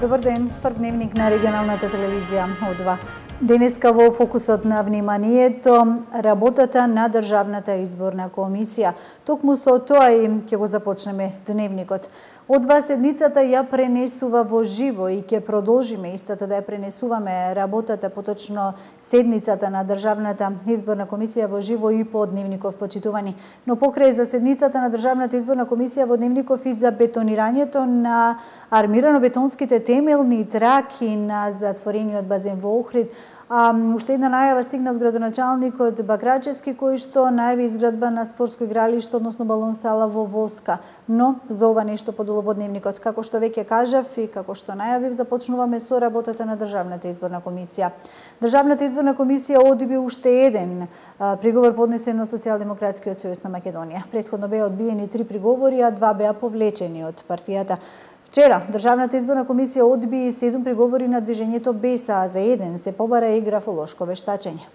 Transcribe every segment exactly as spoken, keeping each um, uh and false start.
Добар ден, прв дневник на регионалната телевизија О два. Денеска во фокусот на вниманието работата на Државната изборна комисија. Токму со тоа и ќе го започнеме дневникот. Од два седницата ја пренесува во живо и ќе продолжиме истата да ја пренесуваме работата, поточно седницата на Државната изборна комисија во живо и по дневников, почитувани. Но покрај за седницата на Државната изборна комисија во дневников и за бетонирањето на армирано-бетонските темелни траки на затворениот базен во Охрид, А, уште една најава стигна од градоначалникот Бакрачевски, кој што најави изградба на спортско игралиште, односно балон сала во Воска. Но за ова нешто подолу во дневникот. Како што веќе кажав и како што најавив, започнуваме со работата на Државната изборна комисија. Државната изборна комисија одби уште еден а, приговор поднесен од Социјалдемократскиот сојуз на Македонија. Претходно беа одбиени три приговори, а два беа повлечени од партијата. Вчера Државната изборна комисија одби седум приговори на движењето Беса, а за еден се побара и графолошко вештачење.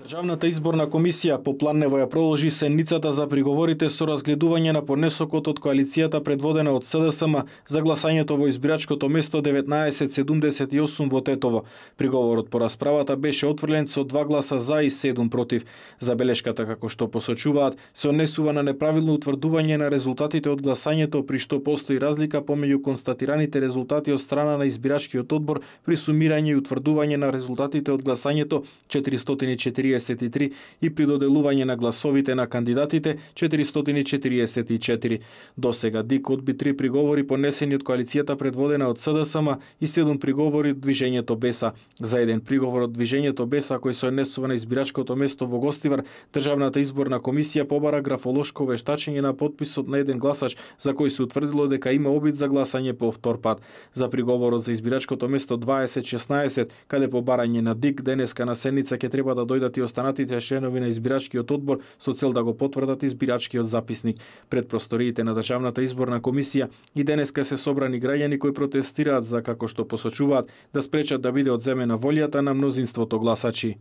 Државната изборна комисија по планево ја продолжи седницата за приговорите со разгледување на поднесокот од коалицијата предводена од С Д С М за гласањето во избирачкото место деветнаесет седумдесет и осум во Тетово. Приговорот по расправата беше отфрлен со два гласа за и седум против. Забелешката, како што посочуваат, се однесува на неправилно утврдување на резултатите од гласањето, при што постои разлика помеѓу констатираните резултати од страна на избирачкиот одбор при сумирање и утврдување на резултатите од гласањето четиристотини и четириесет и три и при доделување на гласовите на кандидатите четиристотини и четириесет и четири. Досега ДИК одби три приговори понесени од коалицијата предводена од С Д С М и седум приговори од движењето Беса. За еден приговор од движењето Беса кој се однесува на избирачкото место во Гостивар, Државната изборна комисија побара графолошко вештачење на потписот на еден гласач за кој се утврдило дека има обид за гласање по втор пат. За приговорот за избирачкото место дваесет шеснаесет, каде по барање на ДИК денеска на седница ќе треба да дојдат и останатите членови на избирачкиот одбор со цел да го потврдат избирачкиот записник. Пред просториите на Државната изборна комисија и денеска се собрани граѓани кои протестираат за, како што посочуваат, да спречат да биде одземена волјата на мнозинството гласачи.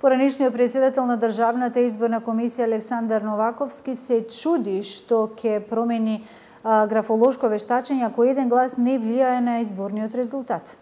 Поранешниот председател на Државната изборна комисија Александар Новаковски се чуди што ќе промени а, графолошко вештачење ако еден глас не влијае на изборниот резултат.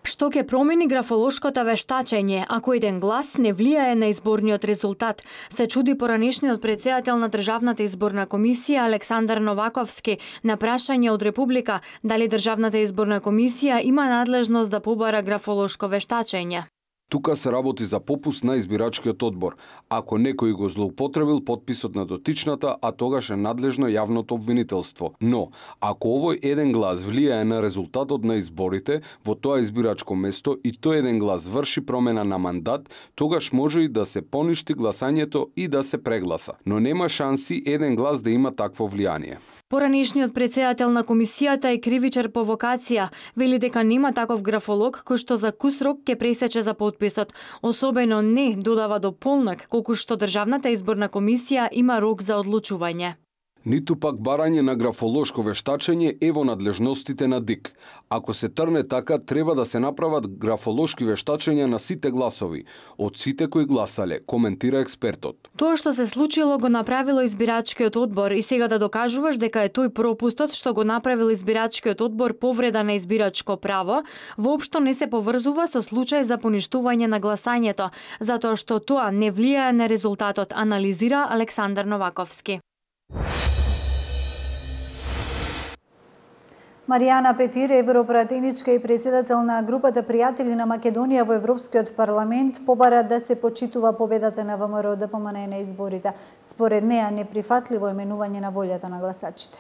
Што ќе промени графолошкото вештачење ако еден глас не влијае на изборниот резултат, се чуди поранешниот председател на Државната изборна комисија Александар Новаковски на прашање од Република дали Државната изборна комисија има надлежност да побара графолошко вештачење. Тука се работи за попуст на избирачкиот одбор. Ако некој го злоупотребил потписот на дотичната, а тогаш е надлежно јавното обвинителство. Но, ако овој еден глас влијае на резултатот на изборите во тоа избирачко место и тој еден глас врши промена на мандат, тогаш може и да се поништи гласањето и да се прегласа. Но нема шанси еден глас да има такво влијание. Поранешниот председател на комисијата и кривичар по вокација вели дека нема таков графолог кој што за кус рок ќе пресече за потписот, особено не додава до полнак колку што Државната изборна комисија има рок за одлучување. Ниту пак барање на графолошко вештачење е во надлежностите на ДИК. Ако се трне така, треба да се направат графолошки вештачења на сите гласови, од сите кои гласале, коментира експертот. Тоа што се случило го направило избирачкиот одбор и сега да докажуваш дека е тој пропустот што го направил избирачкиот одбор повреда на избирачко право, воопшто не се поврзува со случај за поништување на гласањето, затоа што тоа не влијае на резултатот, анализира Александар Новаковски. Маријана Петир, европратеничка и председател на групата Пријатели на Македонија во Европскиот парламент, побара да се почитува победата на ВМРО Д П М Н на изборите. Според неа неприфатливо именување на волјата на гласачите.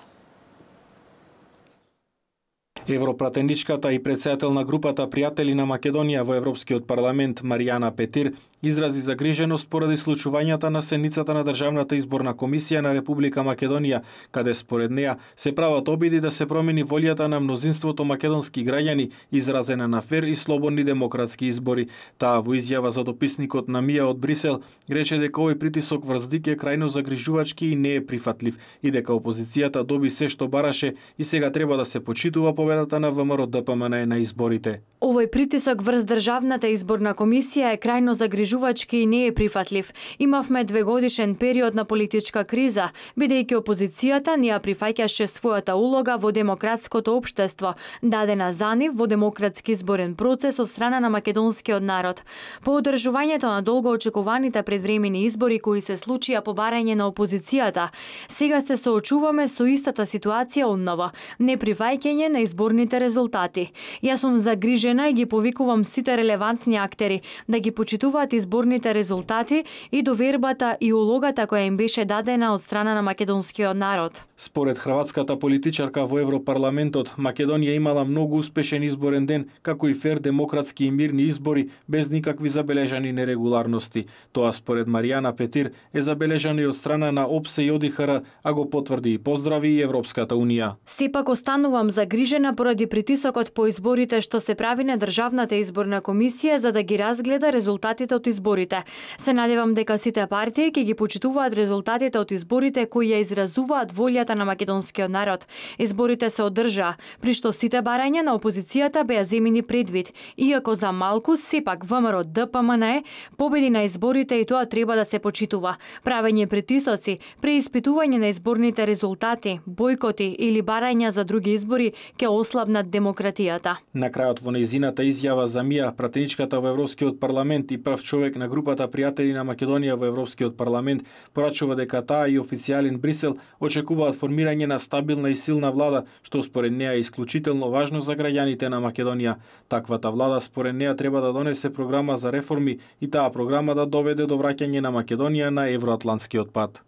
Европратеничката и председател на групата Пријатели на Македонија во Европскиот парламент Маријана Петир изрази загриженост поради случувањата на седницата на Државната изборна комисија на Република Македонија, каде според неа се прават обиди да се промени волјата на мнозинството македонски граѓани, изразена на фер и слободни демократски избори. Таа во изјава за дописникот на Мија од Брисел рече дека овој притисок врз ДИК е крајно загрижувачки и не е прифатлив, и дека опозицијата доби се што бараше и сега треба да се почитува победата на ВМРО Д П М Н на изборите. Овој притисок врз Државната изборна комисија е крајно загрижувачки истражувачки не е прифатлив. Имавме двегодишен период на политичка криза, бидејќи опозицијата не ја прифаќаше својата улога во демократското општество, дадена за нив во демократски изборен процес од страна на македонскиот народ. По одржувањето на долго очекуваните предвремени избори кои се случија по барање на опозицијата, сега се соочуваме со истата ситуација одново, неприфаќање на изборните резултати. Јас сум загрижена и ги повикувам сите релевантни актери да ги почитуваат изборните резултати и довербата и улогата која им беше дадена од страна на македонскиот народ. Според хрватската политичарка во Европарламентот, Македонија имала многу успешен изборен ден, како и фер, демократски и мирни избори без никакви забележани нерегуларности. Тоа според Маријана Петир е забележано и од страна на ОПСЕ и ОДИХР, а го потврди и поздрави и Европската унија. Сепак останувам загрижена поради притисокот по изборите што се прави на Државната изборна комисија за да ги разгледа резултатите од изборите. Се надевам дека сите партии ќе ги почитуваат резултатите од изборите кои ја изразуваат волјата на македонскиот народ. Изборите се одржаа, при што сите барања на опозицијата беа земени предвид, иако за малку сепак ВМРО Д П М Н Е победи на изборите и тоа треба да се почитува. Правење притисоци, преиспитување на изборните резултати, бойкоти или барања за други избори ќе ослабнат демократијата. На крајот во нејзината изјава за Мија, пратеничката во Европскиот парламент и прв човек на групата пријатели на Македонија во Европскиот парламент, порачува дека таа и официјален Брисел очекуваат формирање на стабилна и силна влада, што според неа е исклучително важно за граѓаните на Македонија. Таквата влада според неа треба да донесе програма за реформи и таа програма да доведе до враќање на Македонија на евроатлантскиот пат.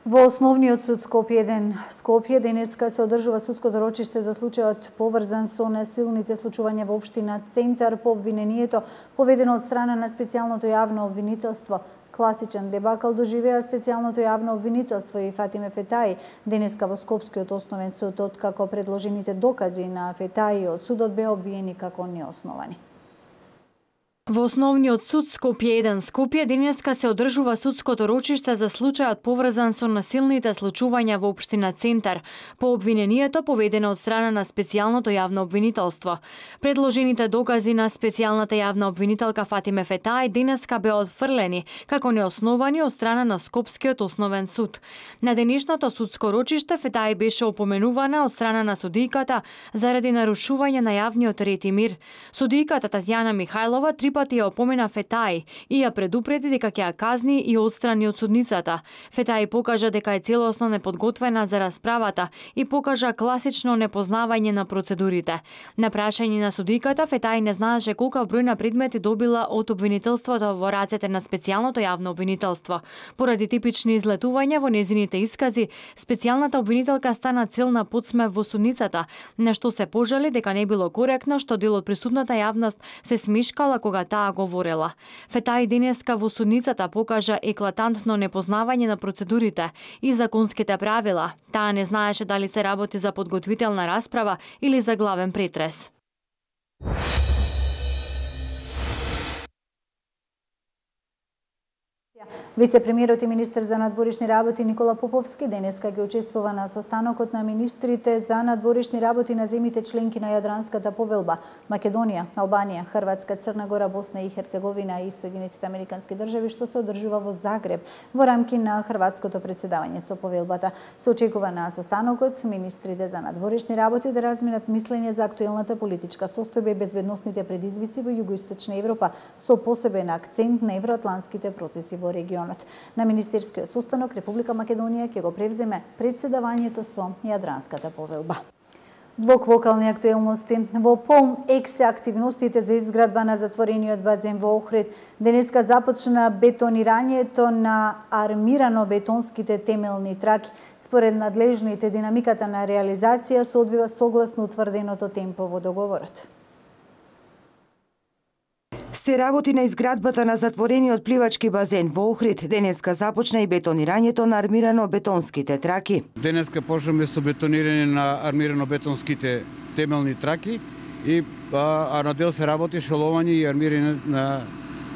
Во Основниот суд Скопје еден Скопје денеска се одржува судското рочиште за случајот поврзан со насилните случувања во општина Центар по обвинението поведено од страна на специјалното јавно обвинителство. Класичен дебакл доживеа специјалното јавно обвинителство и Фатиме Фетаи денеска во Скопскиот основен суд, откако предложените докази на Фетаи од судот беа обвиени како неосновани. Во Основниот суд Скопје еден Скопје денеска се одржува судското рочиште за случајот поврзан со насилните случувања во општина Центар по обвинението поведено од страна на специјалното јавно обвинителство. Предложените докази на специјалната јавна обвинителка Фатиме Фетаи денеска беа отфрлени како неосновани од страна на Скопскиот основен суд. На денешното судско рочиште Фетаи беше опоменувана од страна на судијката заради нарушување на јавниот ред и мир. Судијката Татјана Михајлова три пати ја опомена Фетаи и ја предупреди дека ќе ја казни и отстрани од судницата. Фетаи покажа дека е целосно неподготвена за расправата и покажа класично непознавање на процедурите. На прашање на судиката, Фетаи не знаеше колку број на предмети добила од обвинителството во рацете на специјалното јавно обвинителство. Поради типични излетувања во незините искази, специјалната обвинителка стана цел на подсмев во судницата, на што се пожали дека не било коректно што дел од присутната јавност се смешкала кога таа говорела. Фетаи денеска во судницата покажа еклатантно непознавање на процедурите и законските правила. Таа не знаеше дали се работи за подготвителна расправа или за главен претрес. Вице-премиерот и министер за надворешни работи Никола Поповски денеска ги учествува на состанокот на министрите за надворешни работи на земите членки на Јадранската повелба Македонија, Албанија, Хрватска, Црна Гора, Босна и Херцеговина и Соединетите американски држави, што се одржува во Загреб во рамки на хрватското председавање со повелбата. Се очекува на состанокот министрите за надворешни работи да разменат мислење за актуелната политичка состојба и безбедносните предизвици во југоисточна Европа со посебен акцент на евроатлантските процеси во регионот. На министерскиот состанок Република Македонија ќе го превземе председавањето со Јадранската повелба. Блок локални актуелности. Во полн ек се активностите за изградба на затворениот базен во Охрид. Денеска започна бетонирањето на армирано бетонските темелни траки. Според надлежните, динамиката на реализација се одвива согласно утврденото темпо во договорот. Се работи на изградбата на затворениот пливачки базен во Охрид. Денеска започна и бетонирањето на армирано бетонските траки. Денеска почнаме со бетонирање на армирано бетонските темелни траки и а, а на дел се работи шоловање и армирање на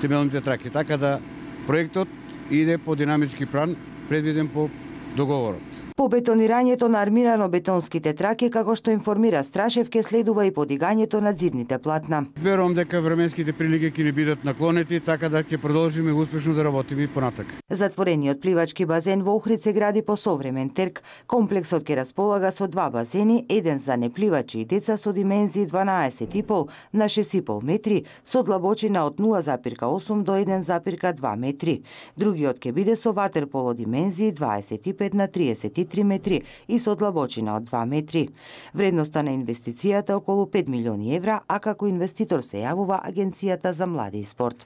темелните траки. Така да проектот иде по динамички план предвиден по договорот. По бетонирањето на армирано-бетонските траки, како што информира Страшев, ке следува и подигањето на зидните платна. Верувам дека временските прилики ќе не бидат наклонети, така да ќе продолжиме успешно да работиме понатак. Затворениот пливачки базен во Охрид се гради по современ терк. Комплексот ќе располага со два базени, еден за непливачи и деца со димензии дванаесет и пол на шест и пол метри, со длабочина од нула зарез осум до еден зарез два метри. Другиот ќе биде со ватерполо димензии дваесет и пет на триесет и три метри и со длабочина од два метри. Вредноста на инвестицијата околу пет милиони евра, а како инвеститор се јавува Агенцијата за млади и спорт.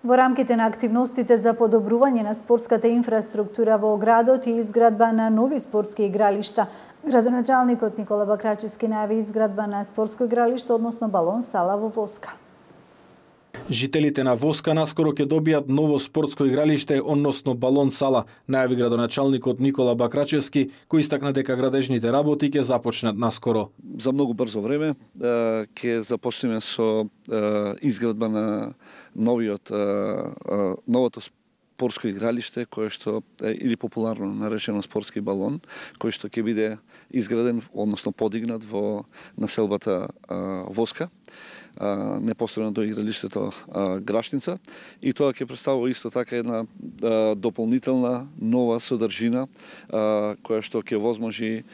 Во рамките на активностите за подобрување на спортската инфраструктура во градот и изградба на нови спортски игралишта, градоначалникот Никола Бакрачевски најави изградба на спортско игралиште, односно балон сала во Воска. Жителите на Воска наскоро ќе добијат ново спортско игралиште, односно балон сала, најави градоначалникот Никола Бакрачевски, кој истакна дека градежните работи ќе започнат наскоро. За многу брзо време ќе започнеме со изградба на новиот новото спортско игралиште, кое што или популарно наречено спортски балон, кој што ќе биде изграден, односно подигнат во населбата Воска, непосредно до игралиштето Грашница, и тоа ќе представува исто така една дополнителна нова содржина која што ќе возможи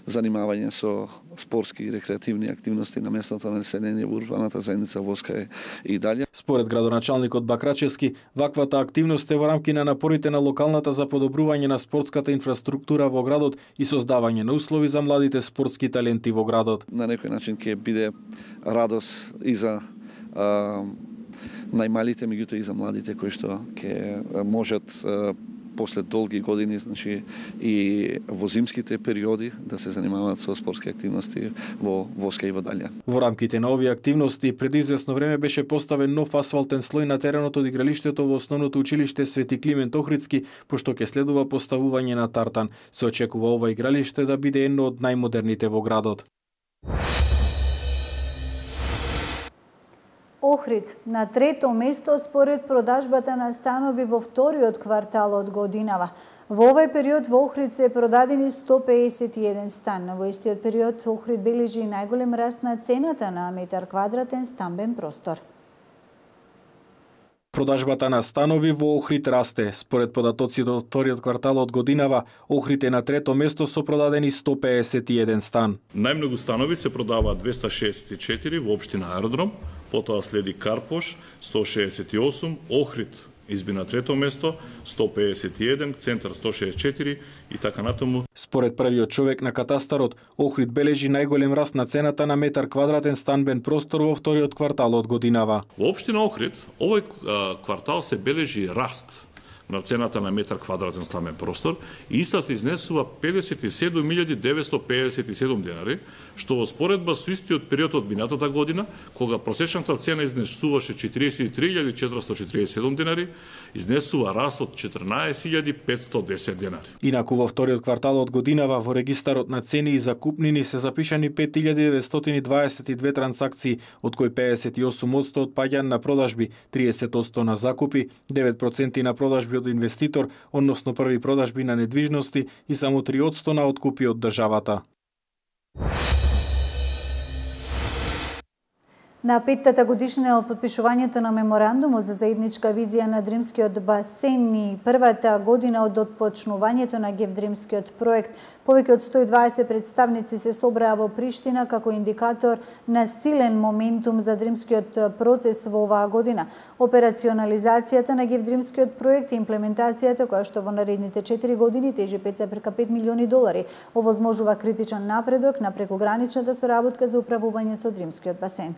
занимавање со спортски и рекреативни активности на местното население во урбаната заедница Воска и дале. Според градоначалникот Бакрачевски, ваквата активност е во рамки на напорите на локалната за подобрување на спортската инфраструктура во градот и создавање на услови за младите спортски таленти во градот. На некој начин ќе биде радост и за а, најмалите, меѓутоа и за младите кои што ќе можат а, после долги години, значи и во зимските периоди да се занимаваат со спортски активности во Воска и во далја. Во рамките на овие активности пред извесно време беше поставен нов асфалтен слој на теренот од игралиштето во основното училиште Свети Климент Охридски, пошто ќе следува поставување на тартан. Се очекува ова игралиште да биде едно од најмодерните во градот. Охрид на трето место според продажбата на станови во вториот квартал од годинава. Во овој период во Охрид се продадени сто пеесет и еден стан. Во истиот период Охрид бележи најголем раст на цената на метар квадратен стамбен простор. Продажбата на станови во Охрид расте. Според податоците од вториот квартал од годинава, Охрид е на трето место со продадени сто пеесет и еден стан. Најмногу станови се продаваат двеста шеесет и четири во општина Аеродром, потоа следи Карпош сто шеесет и осум, Охрид изби на трето место сто пеесет и еден, Центар сто шеесет и четири и така натаму. Според првиот човек на катастарот, Охрид бележи најголем раст на цената на метар квадратен станбен простор во вториот квартал од годинава. Во општина Охрид овој квартал се бележи раст на цената на метар квадратен стамбен простор и истата изнесува педесет и седум илјади деветсто пеесет и седум денари, што во споредба со истиот период од минатата година, кога просечната цена изнесуваше четириесет и три илјади четиристо четириесет и седум денари, изнесува раст од четрнаесет илјади петсто десет денари. Инаку во вториот квартал од годинава во регистарот на цени и закупнини се запишани пет илјади деветстотини дваесет и две трансакции, од кои пеесет и осум одсто отпаѓања на продажби, триесет одсто на закупи, девет проценти на продажби од инвеститор, односно први продажби на недвижности и само три одсто на откупи од државата. На петтата годишнина од подпишувањето на меморандумот за заедничка визија на Дримскиот басен и првата година од отпочнувањето на Гевдримскиот проект, повеќе од сто и дваесет представници се собраа во Приштина како индикатор на силен моментум за Дримскиот процес во оваа година. Операционализацијата на Гевдримскиот проект и имплементацијата, која што во наредните четири години тежи пет зарез пет милиони долари, овозможува критичен напредок на прекограничната соработка за управување со Дримскиот басен.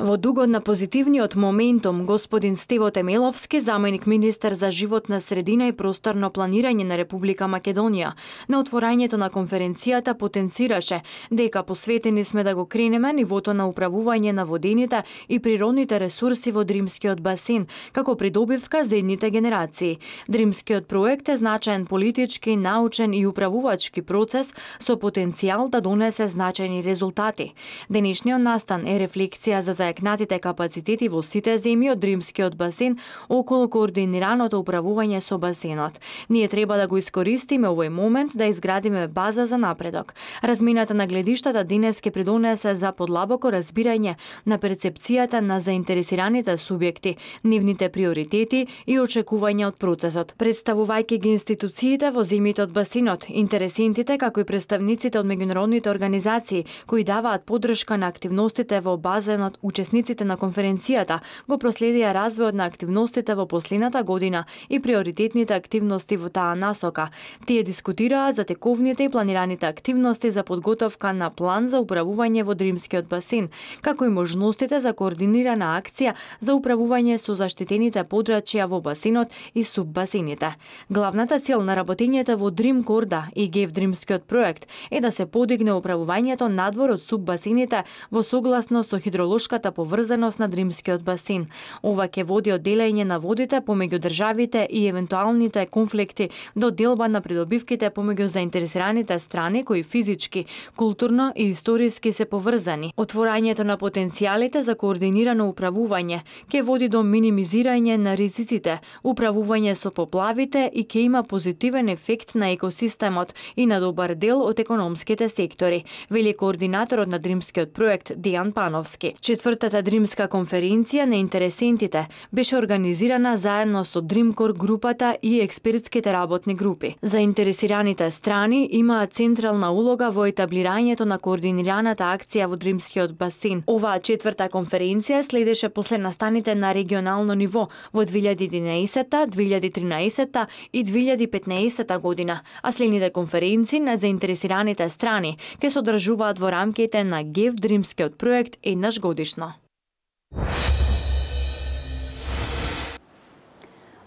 Во дугот на позитивниот моментум, господин Стево Темеловски, заменик министер за животна средина и просторно планирање на Република Македонија, на отворањето на конференцијата потенцираше дека посветени сме да го кренеме нивото на управување на водените и природните ресурси во Дримскиот басен, како придобивка за едните генерации. Дримскиот проект е значаен политички, научен и управувачки процес со потенцијал да донесе значајни резултати. Денешниот настан е рефлексија за проекнатите капацитети во сите земји од Римскиот басен околу координираното управување со басенот. Ние треба да го искористиме овој момент да изградиме база за напредок. Размината на гледиштата денес ќе придонесе за подлабоко разбирање на перцепцијата на заинтересираните субјекти, нивните приоритети и очекувања од процесот. Представувајќи ги институциите во земјите од басинот, интересентите како и представниците од меѓународните организации кои даваат поддршка на активностите во базенот, учесниците на конференцијата го проследија развојот на активностите во последната година и приоритетните активности во таа насока. Тие дискутираа за тековните и планираните активности за подготовка на план за управување во Римскиот басен, како и можностите за координирана акција за управување со заштитените подрачја во басенот и суббасените. Главната цел на работењето во Дрим Корда и ГЕВ Дримскиот проект е да се подигне управувањето надвор од суббасените во согласно со хидролошката поврзаност на Дримскиот басен. Ова ќе води од делење на водите помеѓу државите и евентуалните конфликти до делба на придобивките помеѓу заинтересираните страни кои физички, културно и историски се поврзани. Отворањето на потенцијалите за координирано управување ќе води до минимизирање на ризиците, управување со поплавите и ќе има позитивен ефект на екосистемот и на добар дел од економските сектори, вели координаторот на Дримскиот проект Дејан Пановски. Четвртата Дримска конференција на интересентите беше организирана заедно со Дримкор групата и експертските работни групи. Заинтересираните страни имаат централна улога во етаблирањето на координираната акција во Дримскиот басен. Оваа четврта конференција следеше после настаните на регионално ниво во две илјади и единаесетта, две илјади и тринаесетта и две илјади и петнаесетта година, а следните конференции на заинтересираните страни ќе се одржуваат во рамките на ГЕВ Дримскиот проект еднаш годишно.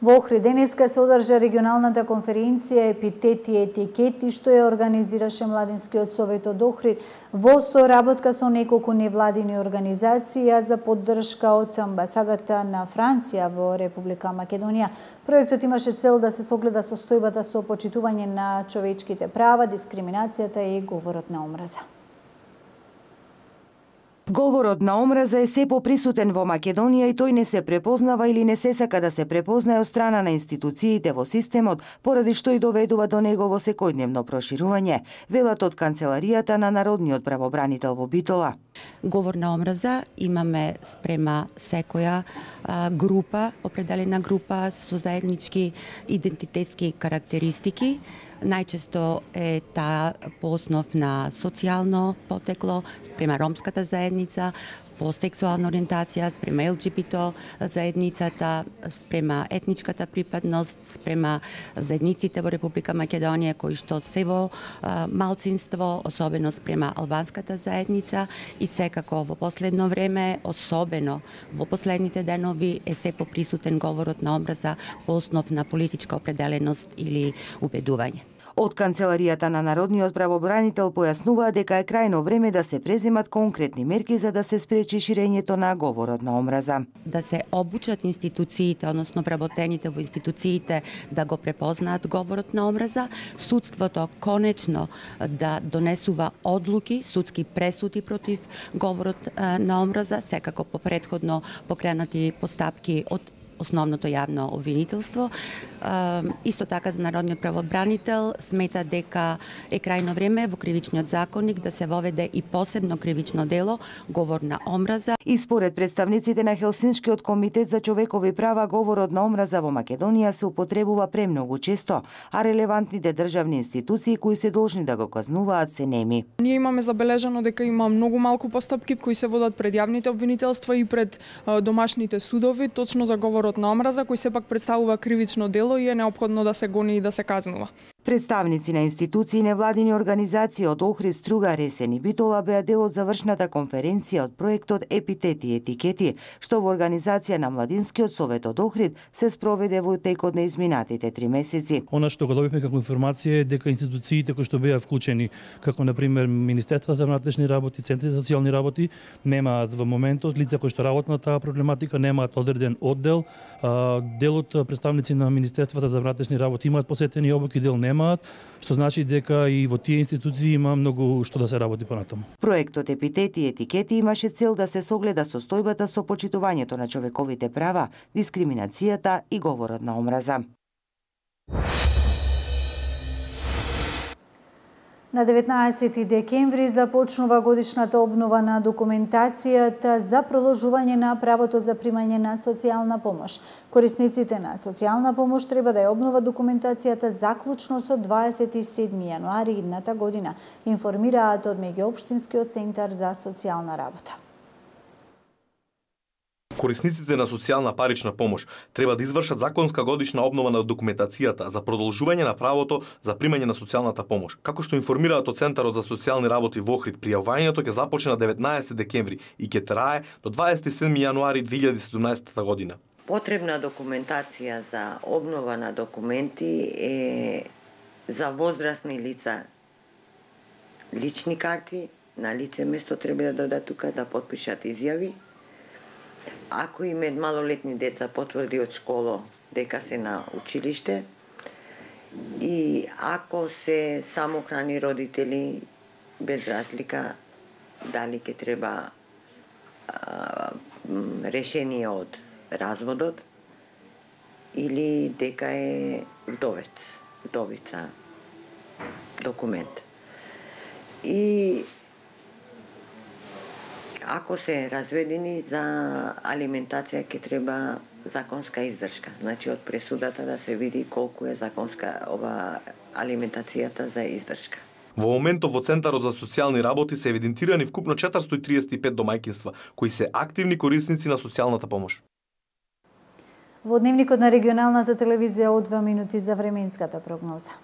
Во Охрид денеска се одржа регионалната конференција Епитети и етикети, што ја организираше Младинскиот совет од Охрид во соработка со неколку невладини организации за поддршка од амбасадата на Франција во Република Македонија. Проектот имаше цел да се согледа состојбата со почитување на човечките права, дискриминацијата и говорот на омраза. Говорот на омраза е се поприсутен во Македонија и тој не се препознава или не се сака да се препознае од страна на институциите во системот, поради што и доведува до негово секојдневно проширување, велат од Канцеларијата на Народниот правобранител во Битола. Говор на омраза имаме спрема секоја а, група, определена група со заеднички идентитетски карактеристики. Најчесто е таа по основ на социјално потекло, спрема ромската заедница, по сексуална ориентација, спрема Ел Џи Би Т заедницата, спрема етничката припадност, спрема заедниците во Република Македонија кои што се во а, малцинство, особено спрема албанската заедница и секако во последно време, особено во последните денови е се поприсутен говорот на омраза по основ на политичка определеност или убедување. Од Канцеларијата на Народниот правобранител појаснуваа дека е крајно време да се преземат конкретни мерки за да се спречи ширењето на говорот на омраза. Да се обучат институциите, односно вработените во институциите да го препознаат говорот на омраза, судството конечно да донесува одлуки, судски пресуди против говорот на омраза, секако по претходно покренати постапки од основното јавно обвинителство. Исто така за Народниот правобранител смета дека е крајно време во кривичниот законник да се воведе и посебно кривично дело говор на омраза. И според представниците на Хелсинскиот комитет за човекови права, говорот на омраза во Македонија се употребува премногу често, а релевантните државни институции кои се должни да го казнуваат се неми. Ние имаме забележано дека има многу малку постапки кои се водат пред јавните обвинителства и пред домашните судови точно за говорот на омраза, кој сепак представува кривично дело и е неопходно да се гони и да се казнува. Представници на институции и невладини организации од Охрид, Струга, Ресен и Битола беа дел од завршната конференција од проектот Епитети и етикети, што во организација на Младинскиот совет од Охрид се спроведе во текот на изминатите три месеци. Она што го добивме како информација е дека институциите кои што беа вклучени, како на пример Министерство за внатрешни работи, Центри за социјални работи, немаат во моментот лица кои што работат на таа проблематика, немаат одреден оддел. Дел од представници на Министерството за внатрешни работи имаат посетени обуки, дел нема. немаат, што значи дека и во тие институции има многу што да се работи понатаму. Проектот Епитети и етикети имаше цел да се согледа состојбата со почитувањето на човековите права, дискриминацијата и говорот на омраза. На деветнаесети декември започнува годишната обнова на документацијата за продолжување на правото за примање на социјална помош. Корисниците на социјална помош треба да ја обнова документацијата заклучно со дваесет и седми јануари идната година, информираат од Меѓуопштинскиот центар за социјална работа. Корисниците на социјална парична помош треба да извршат законска годишна обнова на документацијата за продолжување на правото за примање на социјалната помош. Како што информираат од Центарот за социјални работи во Охрид, пријавувањето ќе започне на деветнаесети декември и ќе трае до дваесет и седми јануари две илјади и седумнаесета година. Потребна документација за обнова на документи е за возрастни лица лични карти, на лице место треба да додат тука да потпишат изјави. Ако имаат малолетни деца, потврди од школа дека се на училиште, и ако се самохрани родители, без разлика дали ќе треба а, решение од разводот или дека е вдовец, вдовица документ. И ако се разведени за алиментација ќе треба законска издршка. Значи од пресудата да се види колку е законска ова алиментацијата за издршка. Во моментов во Центарот за социјални работи се евидентирани вкупно четиристотини и триесет и пет домаќинства кои се активни корисници на социјалната помош. Во дневникот на регионалната телевизија од два минути за временската прогноза.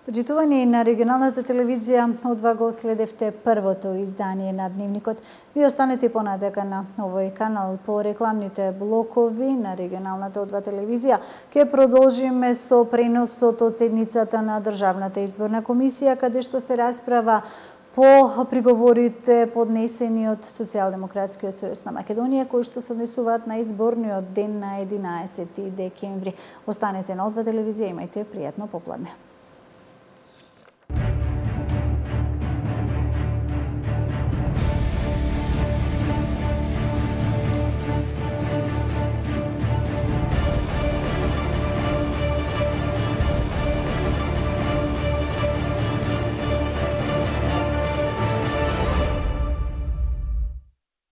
Почитувани на регионалната телевизија, одва го следевте првото издание на Дневникот. Ви останете понатака на овој канал по рекламните блокови на регионалната одва телевизија. Ке продолжиме со преносот од седницата на Државната изборна комисија, каде што се расправа по приговорите поднесени од Социјалдемократскиот сојуз на Македонија, кои што се однесуваат на изборниот ден на единаесети декември. Останете на одва телевизија, имајте пријатно попладне.